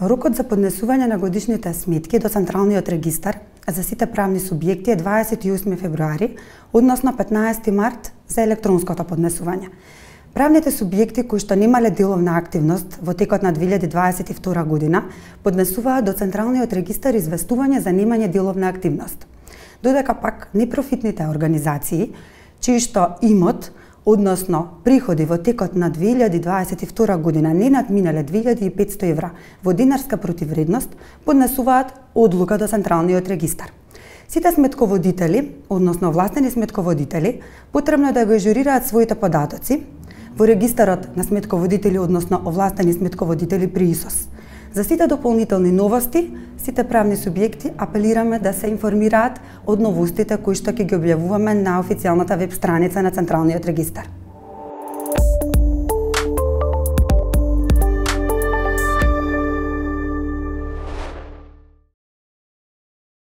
Рокот за поднесување на годишните сметки до Централниот регистар за сите правни субјекти е 28 февруари, односно 15 март за електронското поднесување. Правните субјекти кои што немале деловна активност во текот на 2022 година поднесуваат до Централниот регистар известување за немање деловна активност. Додека пак непрофитните организации, чии што имот, односно приходи во текот на 2022 година не надминале 2500 евра во динарска противвредност, поднесуваат одлука до Централниот регистар. Сите сметководители, односно овластени сметководители, потребно е да го ежурираат своите податоци во регистарот на сметководители, односно овластени сметководители при ИСОС. За сите дополнителни новости, сите правни субјекти апелираме да се информираат од новостите кои што ќе ги објавуваме на официјалната веб страница на Централниот регистар.